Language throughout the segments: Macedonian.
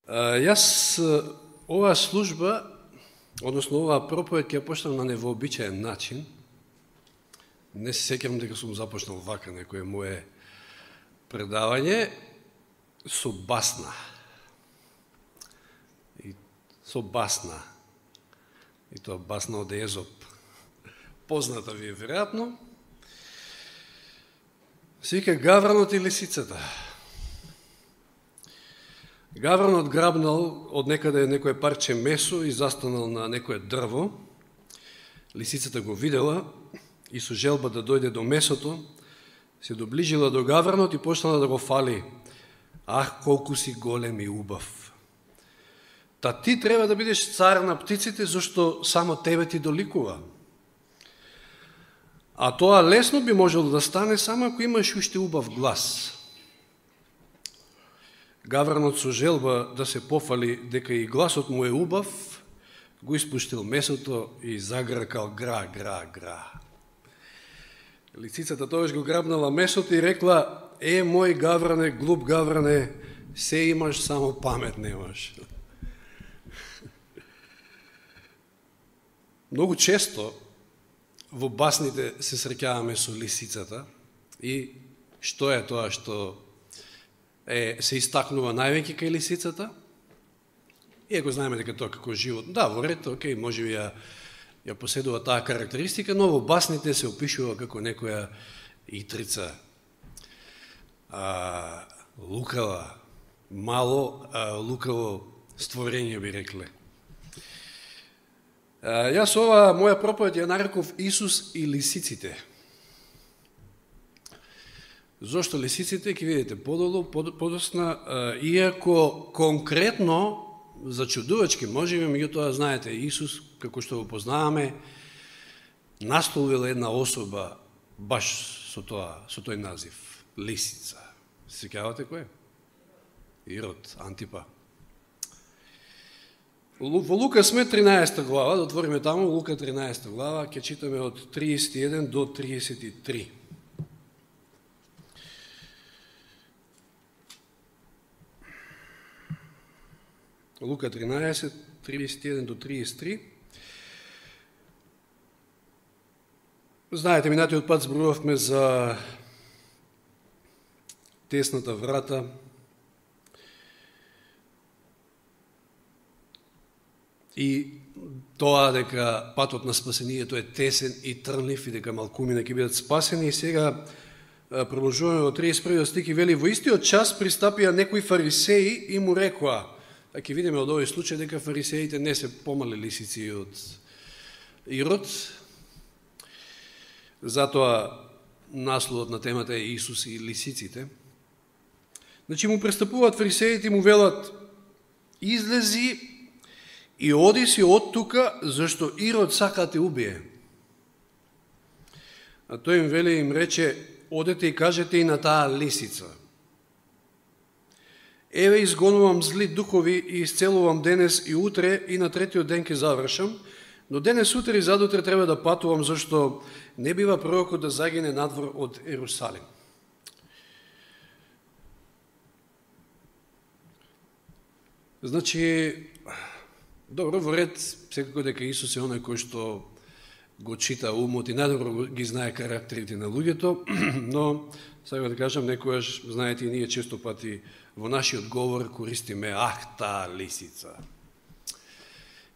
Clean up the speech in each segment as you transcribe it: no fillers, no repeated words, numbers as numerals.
Јас оваа служба, односно оваа проповед ќе ја почнам на невообичаен начин. Не се сеќавам дека сум започнал вака некое мое предавање со басна. И тоа басна од Езоп. Позната ви е веројатно. Се вика Гавранот и лисицата. Гавранот грабнал од некаде некое парче месо и застанал на некое дрво. Лисицата го видела и со желба да дојде до месото, се доближила до Гавранот и почнала да го фали. Ах, колку си голем и убав. Та ти треба да бидеш цар на птиците, зашто само тебе ти доликува. А тоа лесно би можело да стане само ако имаш уште убав глас. Гавранот со желба да се пофали дека и гласот му е убав, го испуштил месото и загракал гра, гра, гра. Лисицата тогаш го грабнала месото и рекла: е, мој Гавране, глуп Гавране, се имаш, само памет немаш. Многу често во басните се среќаваме со лисицата и што е тоа што се истакнува највеќе кај лисицата? Иако знаеме дека тоа како живот, да, во ред, окей, може би ја поседува таа карактеристика, но во басните се опишува како некоја итрица, лукава, мало лукаво створење, би рекле. Јас ова моја проповед ја нареков Исус и лисиците. Зошто лисиците, ќе видите подолу, подосна, иако конкретно, зачудувачки, може би, меѓутоа, знаете, Исус, како што го познаваме, насловил една особа баш со тој назив, лисица. Се сеќавате кој? Ирод, Антипа. Во Лука сме 13 глава, да отвориме таму, Лука 13 глава, ќе читаме од 31 до 33. Лука 13, 31 до 33. Знаете, минатиот пат зборувавме за тесната врата, и тоа дека патот на спасението е тесен и трнлив и дека малкумина ќе бидат спасени. И сега продолжуваме во 31 стих и вели: во истиот час пристапија некои фарисеи и му рекоа. А ќе видиме од овој случај дека фарисеите не се помали лисици од Ирод. Затоа насловот на темата е Исус и лисиците. Значи му пристапуваат фарисеите и му велат: излези и оди си од тука, зашто Ирод сака да те убие. А тој им вели, им рече: одете и кажете и на таа лисица: еве, изгонувам зли духови и исцелувам денес и утре, и на третиот ден ќе завршам, но денес, утре и задутре треба да патувам, зашто не бива пророкот да загине надвор од Ерусалим. Значи, добро, во ред, секако дека Исус е оној кој што го чита умот и најдобро ги знае карактерите на луѓето, но, сега да кажам, некојаш, знаете, и ние често пати во нашиот говор користиме таа лисица.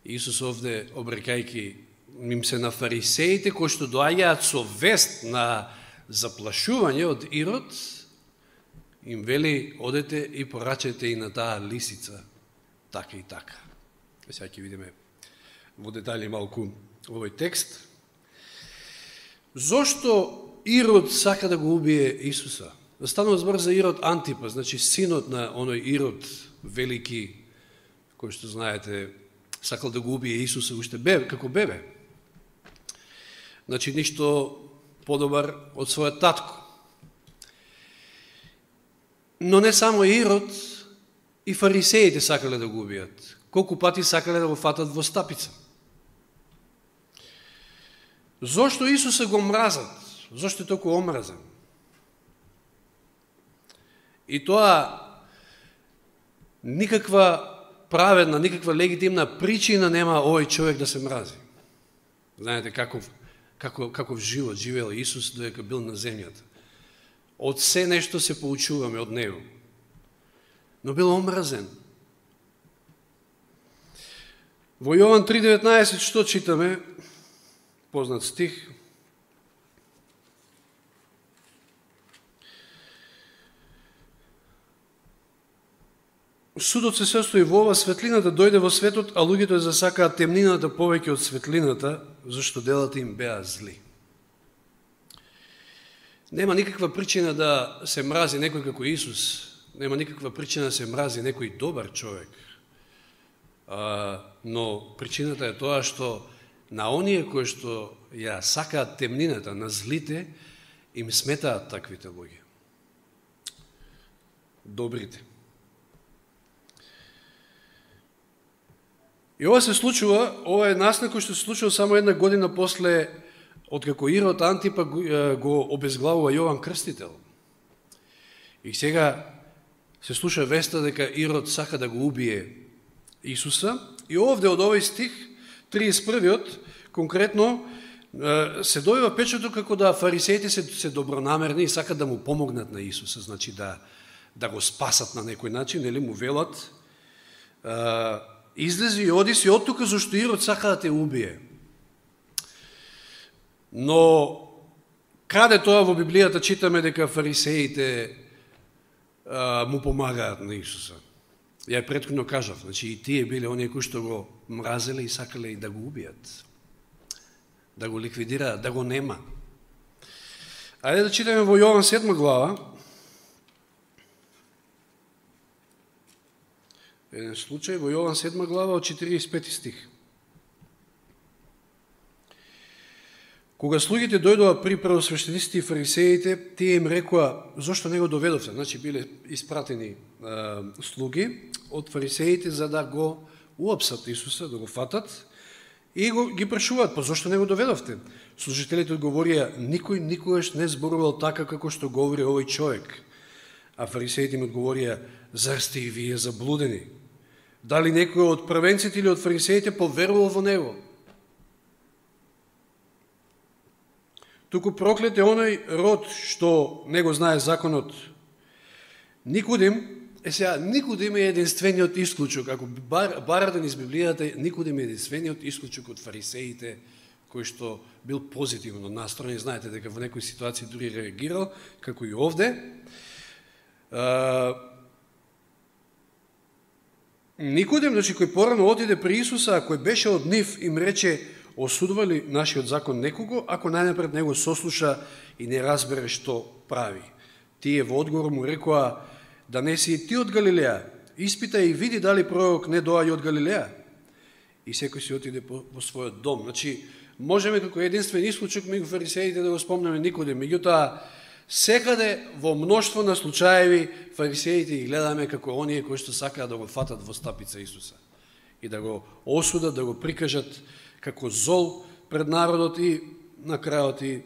Исус овде, обрекајки им се на фарисеите, кои што доаѓаат со вест на заплашување од Ирод, им вели: одете и порачете и на таа лисица, така и така. Сега ќе видиме во детали малку овој текст. Зошто Ирод сака да го убие Исуса? Станува збор за Ирод Антипа, значи синот на оној Ирод велики, кој што знаете, сакал да го убие Исуса уште како бебе. Значи ништо подобар од својот татко. Но не само Ирод, и фарисеите сакале да го убијат. Колку пати сакале да го фатат во стапица. Зошто Исуса го мразат? Зошто е толку омразен? И тоа никаква праведна, никаква легитимна причина нема овој човек да се мрази. Знаете каков живот живеел Исус додека бил на земјата. Од се нешто се поучуваме од него. Но бил омразен. Во Јован 3:19 што читаме? Познат стих. Судот се состои во ова: светлината дојде во светот, а луѓето ја засакаат темнината повеќе од светлината, зашто делата им беа зли. Нема никаква причина да се мрази некој како Исус. Нема никаква причина да се мрази некој добар човек. Но причината е тоа што на оние кои што ја сакаат темнината, на злите, им сметаат таквите луѓе. Добрите. И ова се случува, ова е настан кој што се случува само една година после откако Ирод Антипа го обезглавува Јован Крстител. И сега се слуша веста дека Ирод сака да го убие Исуса. И овде од овој стих, 31-иот, конкретно, се добива печато како да фарисеите се добронамерни и сакат да му помогнат на Исуса, значи да го спасат на некој начин, нели му велат, излези и оди си од тука, зашто Ирод сака да те убие. Но каде тоа во Библијата читаме дека фарисеите му помагаат на Исуса? Ја претходно кажав, значи и тие биле оние кои што го мразеле и сакале и да го убијат, да го ликвидираат, да го нема. Ајде да читаме во Јован 7 глава, еден случај, во Јован 7 глава од 45 стих. Кога слугите дојдоа при првосвештениците и фарисеите, тие им рекоа: зошто не го доведовте? Значи биле испратени слуги од фарисеите за да го уапсат Исуса, да го фатат, и ги прашуваат: па зошто не го доведовте? Служителите одговорија: никој никогаш не зборувал така како што говори овој човек. А фарисеите им одговорија: зар сте и вие заблудени? Дали некој од првенците или од фарисеите поверувал во него? Туку проклет е оној род што не го знае законот. Никодим е единствениот исклучок. Ако барате низ Библијата, Никодим е единствениот исклучок од фарисеите, кој што бил позитивно настроен. Знаете дека во некои ситуации дури реагирал, како и овде. Никодим, значи, кој порано отиде при Исуса, а кој беше од нив, им рече: осудува ли нашиот закон некого, ако најнапред него сослуша и не разбере што прави? Тие во одговор му рекоа: да не си и ти од Галилеја? Испитај и види дали пророк не доаѓа од Галилеја. И секој си отиде во својот дом. Значи, можеме како единствен исклучок меѓу фарисеите да го спомнеме Никодим. Меѓутоа, секаде во мноштво на случаеви фарисеите ги гледаме како оние кои што сакаат да го фатат во стапица Исуса и да го осудат, да го прикажат како зол пред народот и на крајот и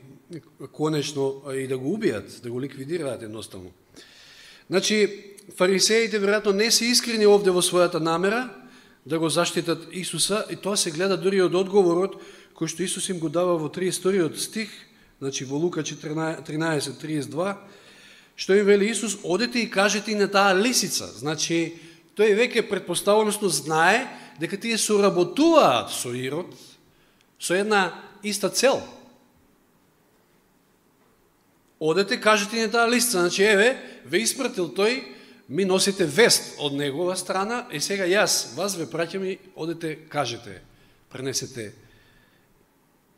конечно и да го убијат, да го ликвидираат едноставно. Значи, фарисеите веројатно не се искрени овде во својата намера да го заштитат Исуса, и тоа се гледа дури од одговорот кој што Исус им го дава во 32 стих, значи во Лука 13:32, што им вели Исус: одете и кажете и на таа лисица. Значи, тој веќе претпоставеностно знае дека тие соработуваат со Ирод со една иста цел. Одете, кажете на таа лисица. Значи, еве, ве испратил тој, ми носите вест од негова страна, и сега јас вас ве праќам и одете, кажете, пренесете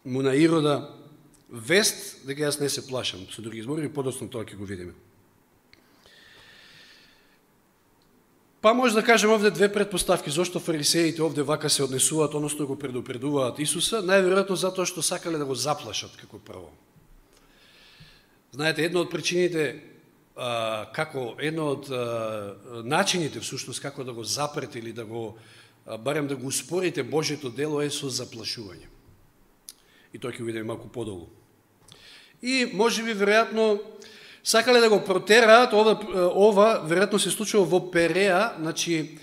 му на Ирода вест дека јас не се плашам. Со други зборови, подоцна тоа ќе го видиме. Па може да кажем овде две предпоставки зошто фарисеите овде вака се однесуваат, односно го предупредуваат Исуса, најверојатно затоа што сакале да го заплашат како прво. Знаете, една од причините, едно од начините всушност како да го запрете или да го, барем да го успорите Божјето дело е со заплашување. И тоа ќе видиме малку подолу. И може би веројатно сакале да го протераат, ова веројатно се случува во Переа, значи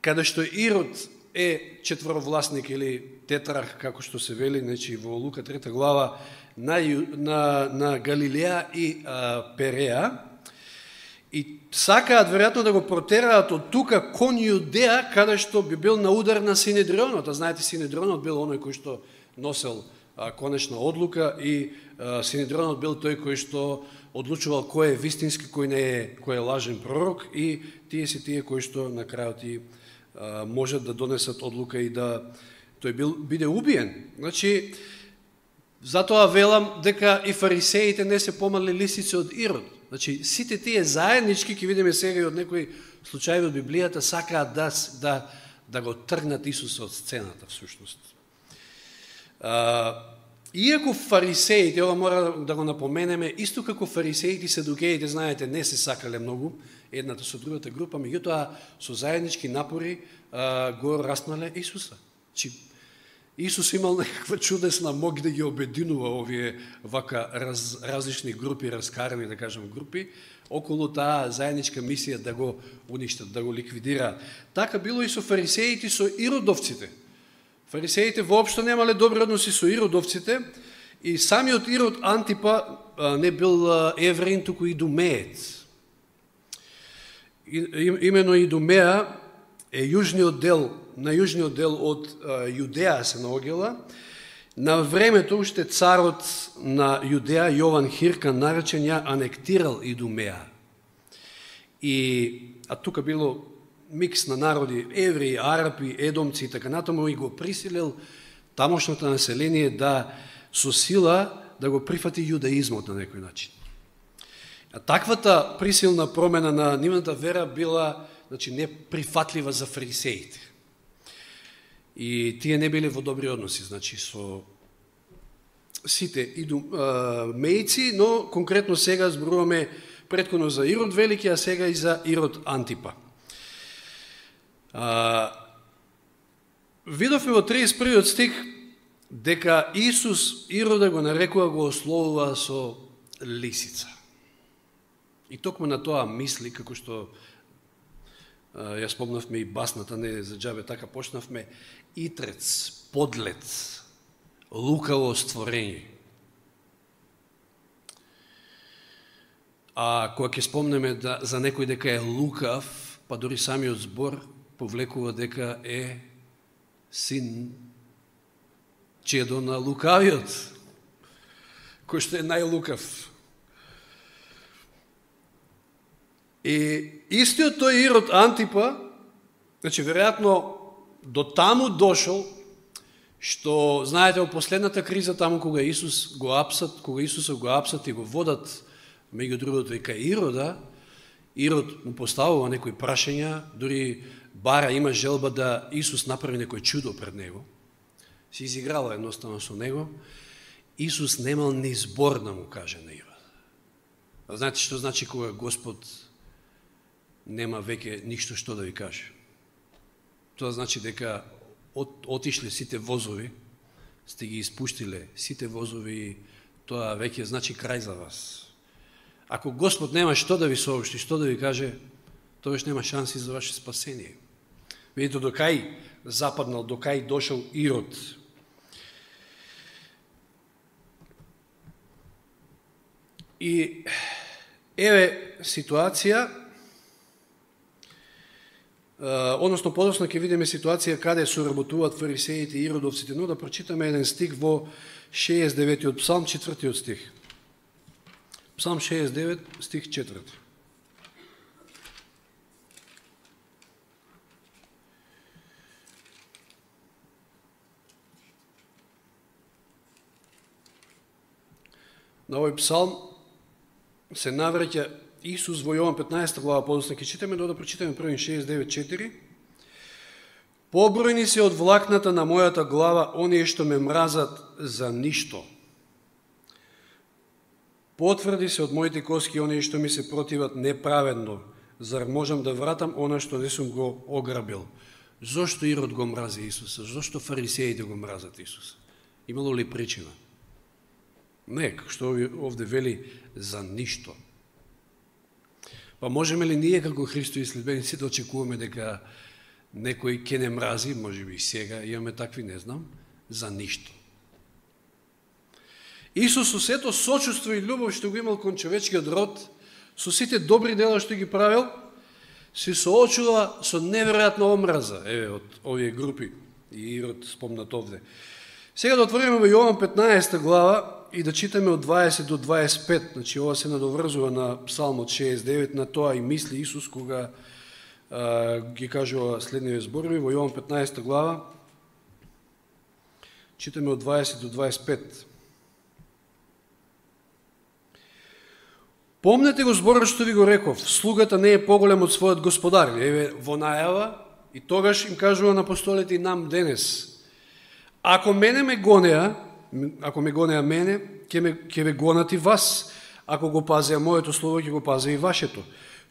каде што Ирод е четворовласник или тетрарх, како што се вели, значи во Лука 3 глава, на Галилеја и Переја, и сакаат веројатно да го протераат од тука кон Јудеја, каде што би бил на удар на Синедрионот. А знаете, Синедрионот бил оној кој што носел конечна одлука и Синедрионот бил тој кој што одлучувал кој е вистински, кој не е, кој е лажен пророк, и тие се тие кои што на крајот и можат да донесат одлука и да тој биде убиен. Значи, затоа велам дека и фарисеите не се помали лисици од Ирод. Значи, сите тие заеднички, ќе видиме сега и од некои случаи од Библијата, сакаат да го тргнат Исуса од сцената, всушност. Иако фарисеите, ова мора да го напоменеме, исто како фарисеите и садукеите, знаете, не се сакале многу едната со другата група, меѓутоа со заеднички напори го распнале Исуса. Исус имал некаква чудесна мог да ги обединува овие вака различни групи, раскарани, да кажем, групи, околу таа заедничка мисија да го уништат, да го ликвидираат. Така било и со фарисеите, со иродовците. Фарисеите воопшто немале добри односи со иродовците, и самиот Ирод Антипа не бил евреин, туку идумеец. Имено Идумеја е на јужниот дел од Јудеја се наоѓала. На времето уште царот на Јудеја, Јован Хиркан наречен, ја анектирал Идумеја. А тука било микс на народи, евреи, арапи, едомци и така натаму, и го присилил тамошното население да со сила да го прифати јудаизмот на некој начин. А таквата присилна промена на нивната вера била, значи, неприфатлива за фарисеите. И тие не биле во добри односи, значи, со сите идумејци, но конкретно сега зборуваме претходно за Ирод Велики, а сега и за Ирод Антипа. Видовме во 31 стих дека Исус Ирода го нарекува, го ословува со лисица. И токму на тоа мисли, како што ја спомнавме и басната, не за џабе така почнавме, итрец, подлец, лукаво створење. А кога ќе спомнеме за некој дека е лукав, па дори самиот збор повлекува дека е син, чедо на лукавиот, кој што е најлукав. И истиот тој Ирод Антипа, значи, веројатно до таму дошол, што, знаете, во последната криза, таму кога Исуса го апсат и го водат, меѓу другото и кај Ирода, Ирод му поставува некои прашања, дури бара, има желба да Исус направи некој чудо пред него, се изиграла едноставно со него, Исус немал ни збор да му каже на Ирод. А знаете што значи кога Господ нема веќе ништо што да ви каже? Тоа значи дека отишле сите возови, сте ги испуштиле сите возови, и тоа веќе значи крај за вас. Ако Господ нема што да ви сообщи, што да ви каже, тогаш нема шанси за ваше спасение. Видите до кај западнал, до кај дошол Ирод. И еве ситуација, односно подоцна ќе видиме ситуација каде соработуваат фарисеите и иродовците, но да прочитаме еден стих во 69 Псалм, 4 стих. Псалм 69, стих 4. На овој псалм се навраќа Исус во Јован 15 глава, подоцна ќе читаме, да прочитаме првин 69:4. Побројни се од влакната на мојата глава оние што ме мразат за ништо. Потврди се од моите коски оние што ми се противат неправедно. Зар можам да вратам она што не сум го ограбил? Зошто Ирод го мрази Исуса? Зошто фарисеите го мразат Исуса? Имало ли причина? Не, што овде вели, за ништо. Па можеме ли ние како Христови следбеници да очекуваме дека некој ќе не мрази, може би и сега имаме такви, не знам, за ништо. Исус со сето сочувство и љубов што го имал кон човечкиот род, со сите добри дела што ги правил, се соочува со неверојатна омраза, од овие групи, и Ирод спомнат овде. Сега да отвориме во Јован 15 глава и да читаме од 20 до 25, значи ова се надоврзува на Псалмот 69, на тоа и мисли Исус кога ги кажува следниве зборови во Јован 15 глава, читаме од 20 до 25. Помнете го зборот што ви го реков, слугата не е поголем од својот господар. Еве во најава, и тогаш им кажува на апостолите и нам денес. Ако ме гонеа мене, ќе ве гонат и вас. Ако го пазеа моето слово, ќе го пазеа и вашето.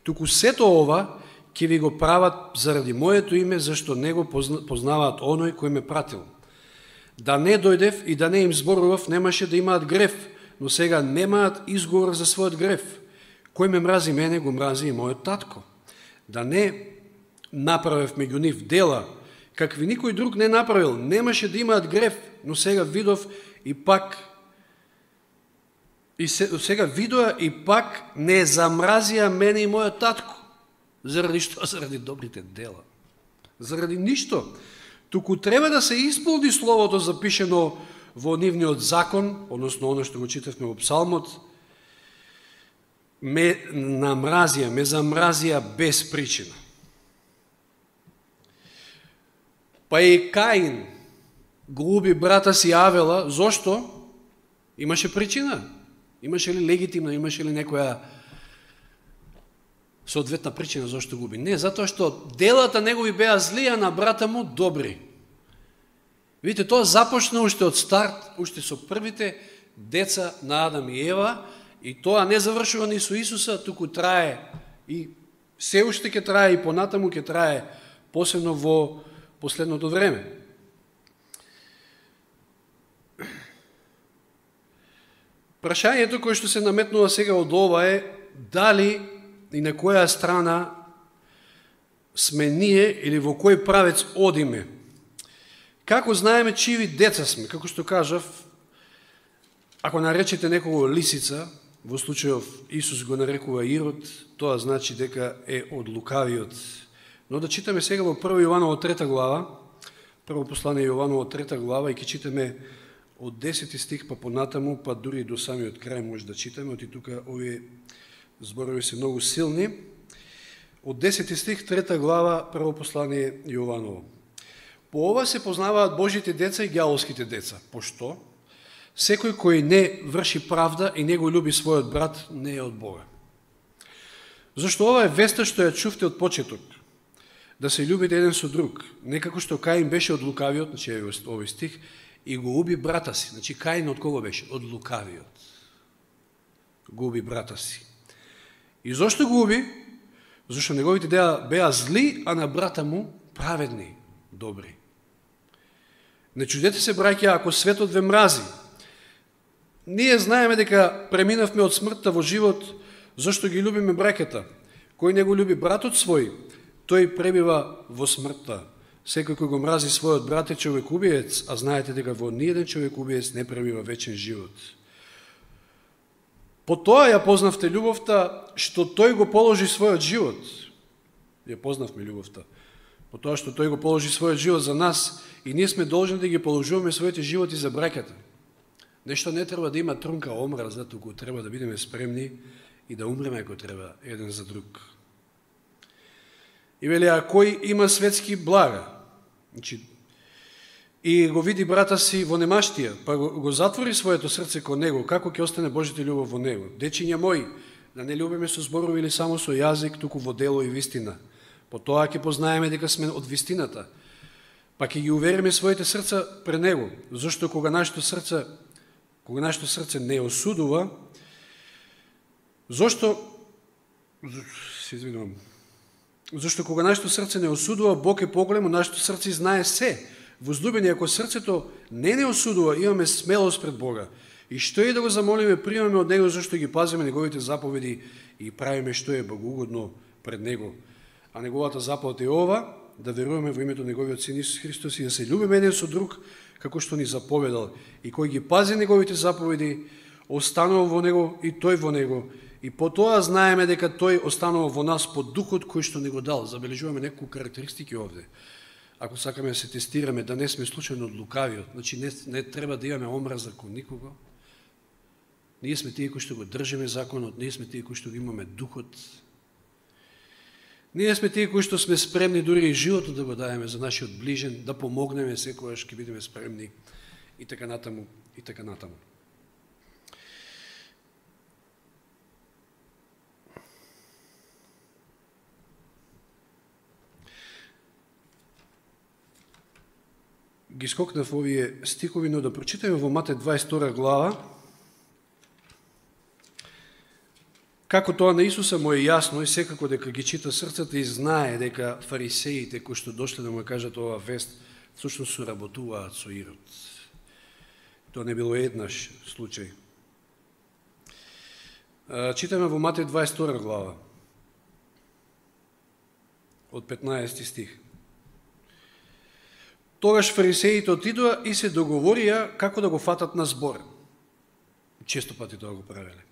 Туку сето ова ќе ви го прават заради моето име, зашто не го познаваат оној кој ме пратил. Да не дојдев и да не им зборував, немаше да имаат грев, но сега немаат изговор за својот грев. Кој ме мрази мене, го мрази и мојот татко. Да не направев меѓу нив дела, какви никој друг не направил, немаше да имаат грев, но сега видов и пак видоа и пак не замразија мене и мојот татко. Заради што? Заради добрите дела. Заради ништо. Туку треба да се исполни словото запишено во нивниот закон, односно оно што го читавме во Псалмот, ме замразија без причина. Па и Каин го уби брата си Авела, зошто? Имаше причина. Имаше ли легитимна, имаше ли некоја соодветна причина зошто го уби? Не, затоа што делата негови беа зли, а на брата му добри. Видите, тоа започна уште од старт, уште со првите деца на Адам и Ева, и тоа не завршува ни со Исуса, туку трае и се уште ќе трае и понатаму ќе трае, посебно во последното време. Прашањето кое што се наметнува сега од ова е дали и на која страна сме ние или во кој правец одиме. Како знаеме чиви деца сме? Како што кажав, ако наречете некого лисица, во случајов Исус го нарекува Ирод, тоа значи дека е од лукавиот. Но да читаме сега во 1 Јованово 3 глава, прво послание Јованово 3 глава, и ќе читаме од 10 стих па понатаму, па дури до самиот крај може да читаме, оти тука овие зборови се многу силни. Од 10 стих 3 глава, прво послание Јованово. По ова се познаваат Божите деца и ѓаволските деца. Пошто? Секој кој не врши правда и не го љуби својот брат, не е од Бога. Зашто ова е веста што ја чувте од почеток, да се љубите еден со друг. Некако што Каин беше од лукавиот, значи овој стих, и го уби брата си. Значи Каин од кого беше? Од лукавиот. Го уби брата си. И зошто го уби? Зашто неговите дела беа зли, а на брата му праведни, добри. Не чудете се, браќа, ако светот ве мрази. Ние знаеме дека преминавме од смртта во живот, зашто ги любиме браќата. Кој не го люби братот свој, тој пребива во смртта. Секој кој го мрази својот брат е човекубиец, а знаете дека во ниеден човекубиец не пребива вечен живот. По тоа ја познавте љубовта, што тој го положи својот живот. Ја познавме љубовта. По тоа што тој го положи својот живот за нас и ние сме должни да ги положуваме своите животи за браќата. Нешто не треба да има трунка омраза, туку треба да бидеме спремни и да умреме ако треба еден за друг. И вели, а кој има светски блага, значи, и го види брата си во немаштија, па го затвори своето срце кон него, како ќе остане Божјата љубов во него? Дечиња мои, да не љубиме со зборови или само со јазик, туку во дело и вистина. По тоа ќе познаеме дека сме од вистината, па ќе ги увериме своите срца пред него, зашто кога нашето срце не осудува, зашто кога нашето срце не осудува, Бог е поголем, нашето срце знае се. Возлюбени, ако срцето не осудува, имаме смелост пред Бога. И што е да го замолиме, примаме од Него, зашто ги пазиме Неговите заповеди и правиме што е богоугодно пред Него. А Неговата заповед е ова, да веруваме во името Неговиот Син Исус Христос и да се љубиме еден со друг, како што ни заповедал. И кој ги пази Неговите заповеди, останува во Него и тој во Него. И по тоа знаеме дека тој останува во нас по духот кој што ни го дал. Забележуваме неколку карактеристики овде. Ако сакаме да се тестираме, да не сме случајно од лукавиот, значи не треба да имаме омраза кон никого. Ние сме тие кои што го држиме законот, ние сме тие кои што го имаме духот. Ние сме тие кои што сме спремни дури и животот да го даеме за нашиот ближен, да помогнеме секогаш ќе бидеме спремни и така натаму, и така натаму. Ги скокнав овие стихови, но да прочитаме во Матеј 22 глава. Како тоа на Исуса му е јасно и секако дека ги чита срцата и знае дека фарисеите кои што дошле да му кажат ова вест, всушност соработуваат со Ирод. Тоа не било еднаш случај. Читаме во Матеј 22 глава, од 15 стих. Тогаш фарисеите отидоа и се договорија како да го фатат на збор. Често пати тоа го правеле.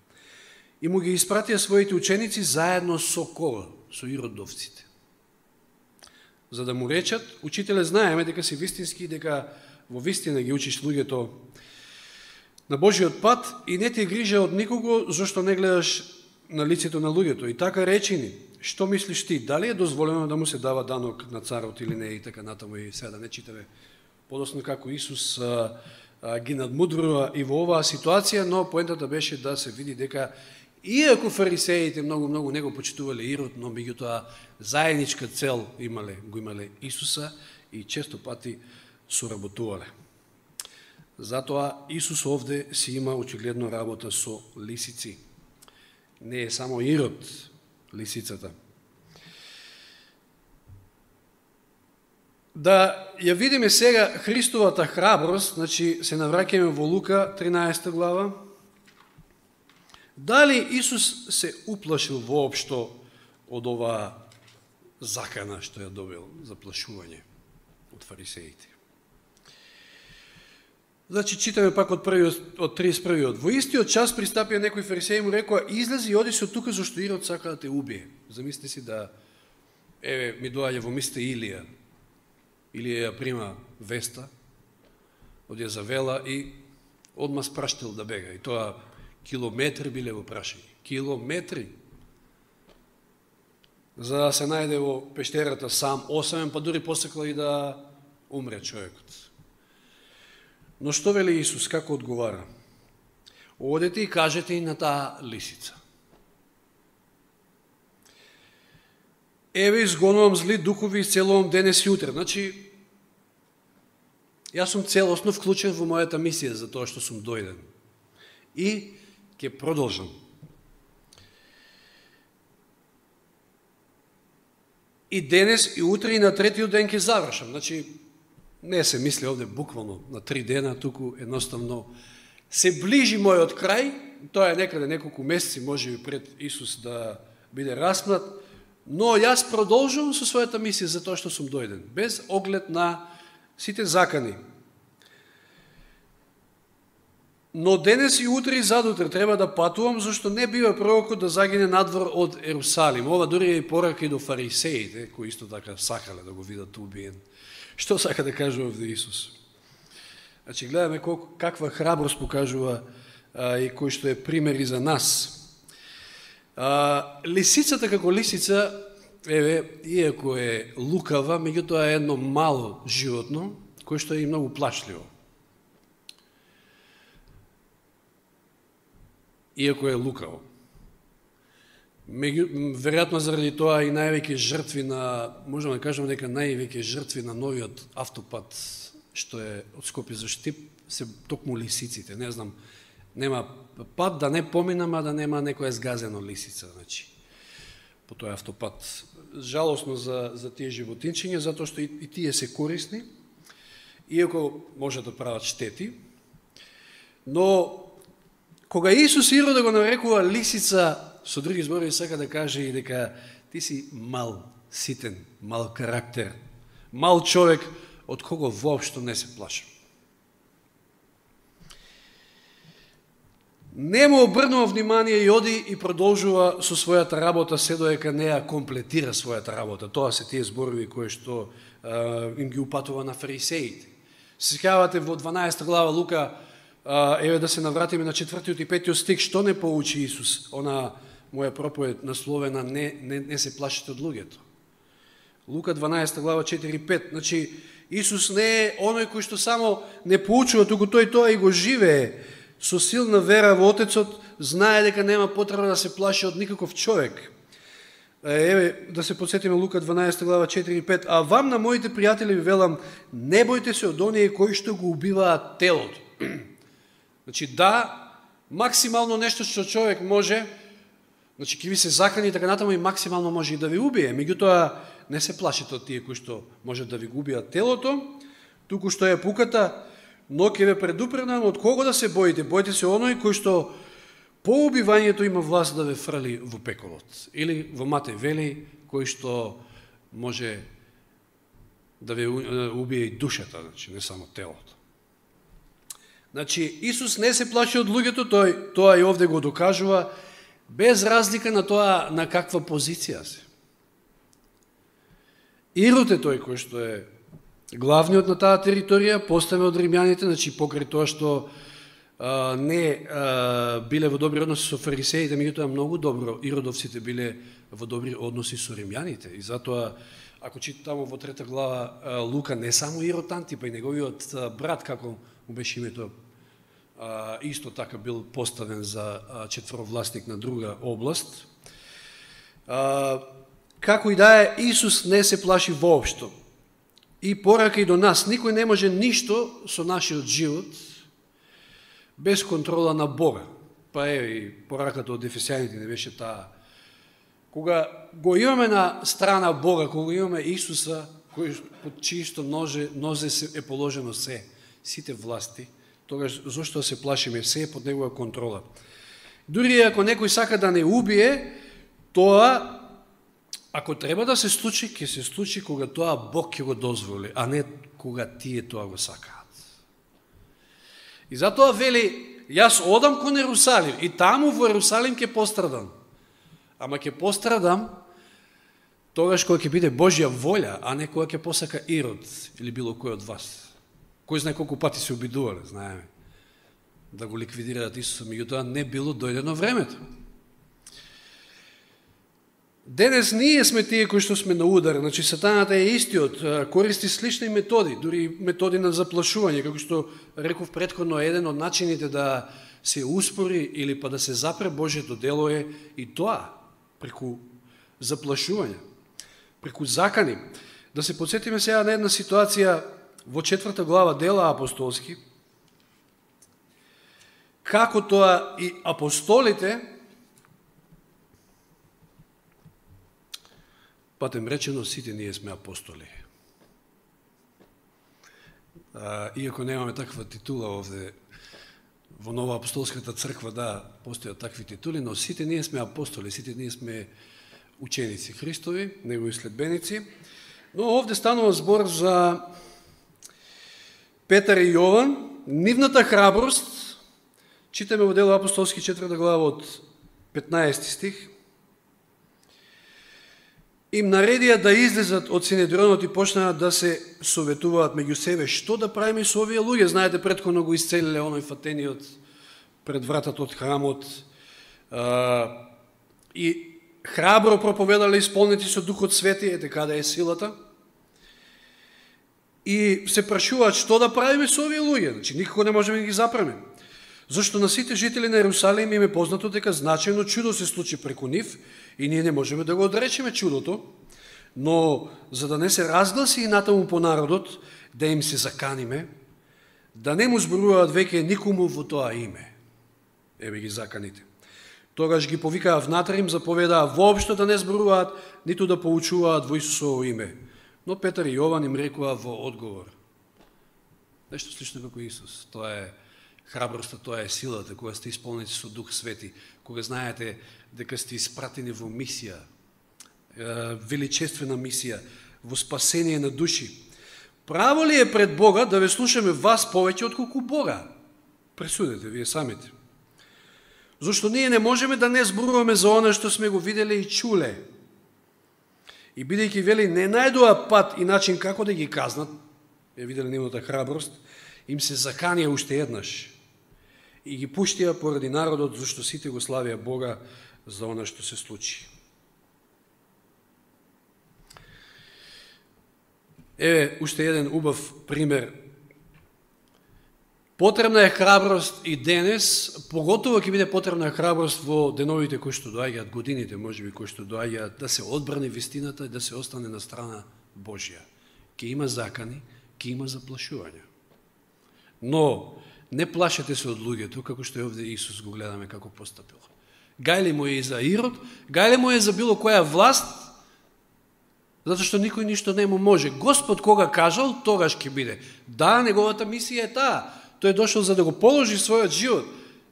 И му ги испратија своите ученици заедно со кого? Со иродовците. За да му речат, учителе, знаеме дека си вистински, дека во вистина ги учиш луѓето на Божиот пат и не ти грижа од никого, зашто не гледаш на лицето на луѓето. И така речи ни, што мислиш ти, дали е дозволено да му се дава данок на царот или не, и така натаму, и сега да не читаме подосно како Исус ги надмудрува и во оваа ситуација, но поентата беше да се види дека иако фарисеите многу не го почитувале Ирод, но меѓутоа заедничка цел го имале Исуса и често пати соработувале. Затоа Исус овде си има очигледно работа со лисици. Не е само Ирод лисицата. Да ја видиме сега Христовата храброст, значи се навраќаме во Лука 13 глава. Дали Исус се уплашил воопшто од оваа закана што ја добил за плашување од фарисеите? Значи, читаме пак од 31-иот. Во истиот час пристапија некој фарисеи му рекоа, излези и оди се од тука, зашто Ирод сака да те убие. Замислите си да, ми доаѓа во мисте Илија. Илија ја прима веста од Језавела и одма спраштил да бега. И тоа километри биле во прашање. Километри. За да се најде во пештерата сам, осамен, па дури посекла и да умре човекот. Но што вели Исус, како одговара? Одете и кажете и на таа лисица. Еве изгонувам зли духови и исцелувам денес и утре. Значи, јас сум целосно вклучен во мојата мисија за тоа што сум дојден. И ќе продолжам. И денес и утре и на третиот ден ќе завршам. Значи, не се мисли овде буквално на 3 дена, туку едноставно се ближи мојот крај, тоа е некаде неколку месеци, може би пред Исус да биде распнат, но јас продолжувам со својата мисија за тоа што сум дојден, без оглед на сите закани. Но денес и утре и задутре треба да патувам, зашто не бива пророкот да загине надвор од Ерусалим. Ова дури е порака и до фарисеите, кои исто така сакале да го видат убиен. Што сака да каже овде Исус? Значи, гледаме каква храброст покажува и кој што е пример и за нас. Лисицата како лисица, еве, иако е лукава, меѓутоа е едно мало животно, кој што е и многу плашливо. Иако е лукаво. Веројатно заради тоа и највеќе жртви на, можеме да кажеме дека највеќе жртви на новиот автопат, што е од Скопје за Штип, се токму лисиците. Не знам, нема пат да не поминам, а да нема некоја згазено лисица, значи, по тој автопат. Жалосно за тие животинчиња, затоа што и тие се корисни, иако може да прават штети, но Кога Исус Ирода го нарекува лисица, со други зборови сака да каже и дека ти си мал, ситен, мал карактер, мал човек, од кого воопшто не се плашам. Не му обрнува внимание и оди и продолжува со својата работа, се доека не ја комплетира својата работа. Тоа се тие зборови кои што им ги упатува на фарисеите. Се сеќавате во 12 глава Лука, еве да се навратиме на 4 и 5 стих, што не поучи Исус, она моја проповед насловена не се плашите од луѓето. Лука 12 глава 4 и 5. Значи, Исус не е оној кој што само не поучува, туку тој тоа и го живее. Со силна вера во Отецот, знае дека нема потреба да се плаши од никаков човек. Еве, да се подсетиме Лука 12 глава 4 и 5. А вам на моите пријатели ви велам, не бојте се од оние кои што го убиваат телото. Значи, да, максимално нешто што човек може, значи, ки ви се закани така натаму и максимално може и да ви убие. Меѓутоа, не се плашите од тие кои што може да ви го убиат телото, туку што е пуката, но ќе ве предупредам од кого да се боите. Бојте се оној кој што по убивањето има власт да ве фрли во пеколот. Или во Матеј вели, кој што може да ве убие и душата, значи, не само телото. Значи, Исус не се плаши од луѓето, тој тоа и овде го докажува, без разлика на тоа на каква позиција се. Ирод е тој кој што е главниот на таа територија, поставен од римјаните, значи покрај тоа што не биле во добри односи со фарисеите, меѓутоа многу добро иродовците биле во добри односи со римјаните. И затоа, ако читаме во 3 глава Лука, не само Ирод Антипа и неговиот брат, како му беше името, исто така бил поставен за четворовластник на друга област. Како и да е, Исус не се плаши воопшто. И порака и до нас, никој не може ништо со нашиот живот без контрола на Бога. Па е и пораката од Ефесјаните не беше таа. Кога го имаме на страна Бога, кога имаме Исуса, кој под чисто нозе е положено се, сите власти, тогаш зошто се плашиме, се е под негова контрола. Дури ако некој сака да не убие, тоа ако треба да се случи, ќе се случи кога тоа Бог ќе го дозволи, а не кога тие тоа го сакаат. И затоа вели, јас одам кон Ерусалим и таму во Ерусалим ќе пострадам. Ама ќе пострадам тогаш кога ќе биде Божја волја, а не кога ќе посака Ирод или било кој од вас. Кој знае колку пати се обидувале, знаеме, да го ликвидираат Исуса, меѓутоа не било дојдено времето. Денес ние сме тие кои што сме на удар, значи сатаната е истиот, користи слични методи, дури методи на заплашување, како што реков претходно, еден од начините да се успори или па да се запре Божјето дело е и тоа, преку заплашување, преку закани. Да се подсетиме сега на една ситуација во 4 глава Дела апостолски, како тоа и апостолите, патем речено, сите ние сме апостоли. Иако немаме таква титула овде, во Нова апостолската црква, да, постојат такви титули, но сите ние сме апостоли, сите ние сме ученици Христови, негови следбеници. Но овде станува збор за Петар и Јован, нивната храброст, читаме во Дело апостолски 4 глава од 15 стих, им наредија да излезат од Синедрионот и почнаа да се советуваат меѓу себе што да правиме со овие луѓе. Знаете, претходно го исцелиле оној фатениот пред вратата од храмот и храбро проповедале исполнети со Духот Свети, ете каде е силата. И се прашуваат што да правиме со овие луѓе. Значи, никако не можеме да ги запреме. Зашто на сите жители на Ерусалим им е познато дека значајно чудо се случи преку нив и ние не можеме да го одречеме чудото, но за да не се разгласи и натаму по народот, да им се заканиме, да не му зборуваат веќе никому во тоа име. Еве ги заканите. Тогаш ги повикаа внатре, им заповедаа воопшто да не зборуваат, ниту да поучуваат во Исусово име. Но Петар и Јован им рекоа во одговор. Нешто слично како Исус. Тоа е Храброста, тоа е силата, кога сте исполнети со Дух Свети, кога знаете дека сте испратени во мисија, величествена мисија, во спасение на души. Право ли е пред Бога да ве слушаме вас повеќе отколку Бога? Пресудете вие самите. Зошто ние не можеме да не зборуваме за оно што сме го виделе и чуле. И бидејќи вели не најдоа пат и начин како да ги казнат, виделе нивната храброст, им се заканија уште еднаш. И ги пуштија поради народот, зашто сите го славија Бога за оно што се случи. Еве уште еден убав пример. Потребна е храброст и денес, поготово ќе биде потребна храброст во деновите кои што доаѓаат, годините можеби кои што доаѓаат, да се одбрани вистината и да се остане на страна Божја. Ке има закани, ке има заплашувања. Но не плашете се од луѓето, како што е овде Исус го гледаме како постапил. Гајле му е и за Ирод, гајле му е за било која власт, затоа што никој ништо не му може. Господ кога кажал, тогаш ќе биде. Да, неговата мисија е таа. Тој е дошол за да го положи својот живот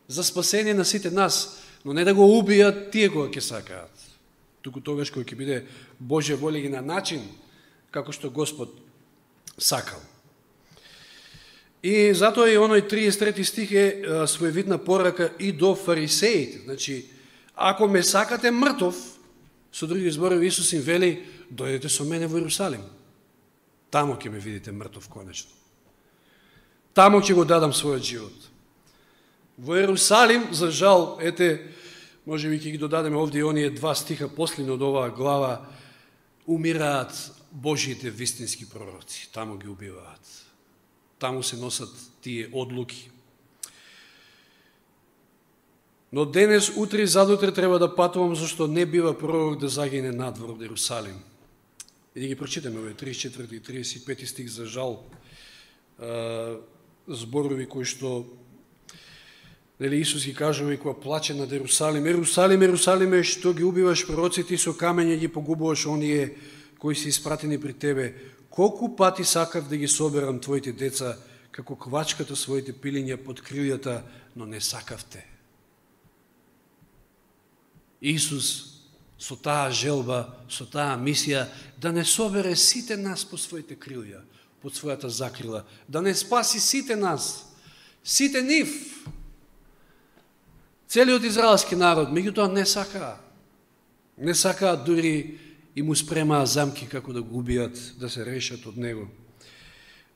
за спасение на сите нас, но не да го убијат тие кога ќе сакаат. Туку тогаш кога ќе биде Божја воля и на начин како што Господ сакал. И затоа и оној 33 стих е своевидна порака и до фарисеите. Значи, ако ме сакате мртов, со други зборови Исус им вели, дојдете со мене во Иерусалим. Тамо ќе ме видите мртов конечно. Тамо ќе го дадам својот живот. Во Иерусалим, за жал, може би ќе ги додадеме овде и оние 2 стиха последно од оваа глава, умираат Божиите вистински пророци. Тамо ги убиваат. Таму се носат тие одлуки. Но денес, утре и задутре треба да патувам, зашто не бива пророк да загине надвор од Иерусалим. И да ги прочитаме овие 34 и 35 стих, за жал, зборови кои што Исус ги кажува и кога плаче над Иерусалим. Иерусалим, Иерусалиме, што ги убиваш пророците и со камења ги погубуваш оние кои се испратени при тебе. Колку пати сакав да ги соберам твоите деца, како квачката своите пилиња под крилјата, но не сакавте. Исус со таа желба, со таа мисија, да не собере сите нас по своите крилја, под својата закрила, да не спаси сите нас, сите нив, целиот израелски народ, меѓутоа не сакаа. Не сакаа, дури и му спремаа замки како да го убијат, да се решат од него,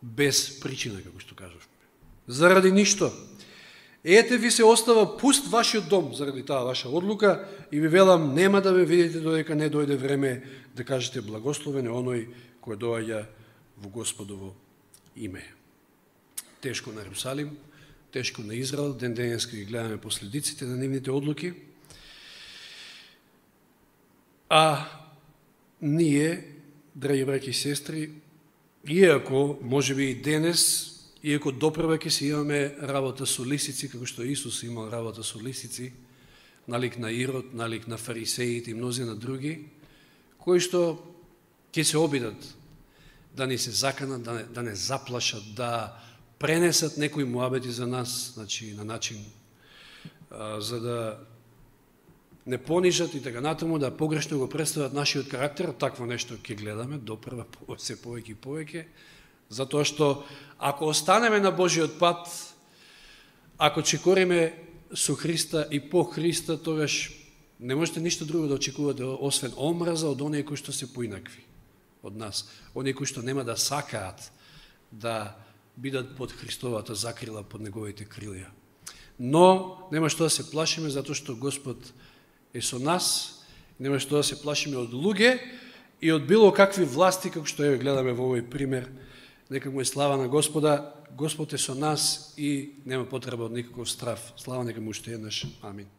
без причина, како што кажавме. Заради ништо. Ете ви се остава пуст вашиот дом заради таа ваша одлука и ви велам, нема да ме видите додека не дојде време да кажете благословен е оној кој доаѓа во Господово име. Тешко на Иерусалим, тешко на Израел, ден-денеска ги гледаме последиците на нивните одлуки. А ние, драги браќи и сестри, иако можеби и денес, иако допрева ќе си имаме работа со лисици, како што Исус имал работа со лисици, налик на Ирод, налик на фарисеите и мнозина други, кои што ќе се обидат да ни се заканат, да не заплашат, да пренесат некои муабети за нас, значи на начин за да не понижат и така натаму, да погрешно го представат нашиот карактер, такво нешто ќе гледаме допрева се повеќе и повеќе. Затоа што ако останеме на Божиот пат, ако чекориме со Христа и по Христа, тогаш не можете ништо друго да очекувате освен омраза од оние кои што се поинакви од нас, оние кои што нема да сакаат да бидат под Христовата закрила, под неговите крилја. Но нема што да се плашиме, затоа што Господ е со нас, нема што да се плашиме од луѓе и од било какви власти, како што гледаме во овој пример. Нека му е слава на Господа, Господ е со нас и нема потреба од никаков страв. Слава нека му уште еднаш. Амин.